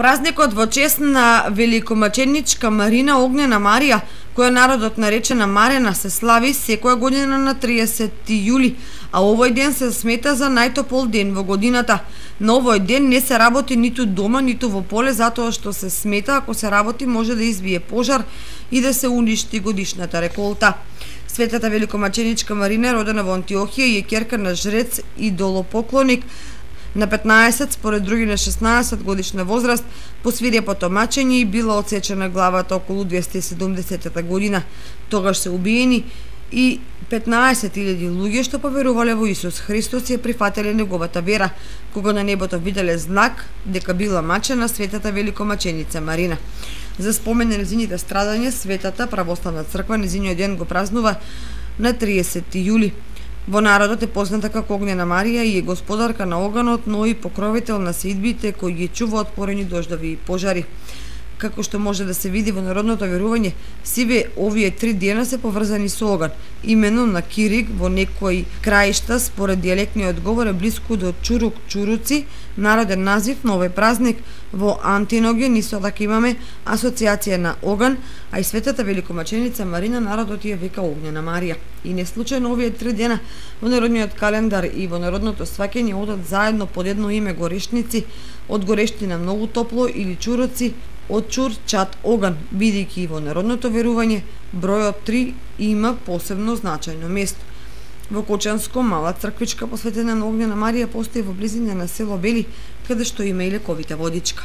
Празникот во чест на великомаченичка Марина Огнена Марија, која народот наречена Марена, се слави секоја година на 30 јули, а овој ден се смета за најтопол ден во годината. На овој ден не се работи ниту дома, ниту во поле, затоа што се смета ако се работи може да избие пожар и да се уништи годишната реколта. Светата великомаченичка Марина е родена во Антиохија и е ќерка на жрец и идолопоклоник. На 15, според други на 16 годишна возраст, по свирепото мачење и била отсечена главата околу 270 година. Тогаш се убиени и 15.000 луѓе што поверувале во Исус Христос и ја прифателе неговата вера, кога на небото виделе знак дека била мачена светата великомаченица Марина. За спомен на незините страдања, Светата православна црква незиниот ден го празнува на 30 јули. Во народот е позната како Огнена Марија и е господарка на оганот, но и покровител на сеидбите кои ги чува од порени дождови и пожари. Како што може да се види во народното верување, сиве овие 3 дена се поврзани со оган. Имено на Кирик во некои краишта според дијалектниот говор е блиску до Чурук-Чуруци, народен назив на овој празник. Во Антиноген исто така имаме асоциација на оган, а и светата великомаченица Марина народот ја вика Огнена Марија. И не случајно овие 3 дена во народниот календар и во народното сваќање одат заедно под едно име горешници, од горештина многу топло или чуруци, од чур чат оган, бидејќи во народното верување бројот 3 има посебно значајно место. Во Кочанско мала црквичка посветена на Огнена Марија постои во близина на село Бели, каде што има и лековита водичка.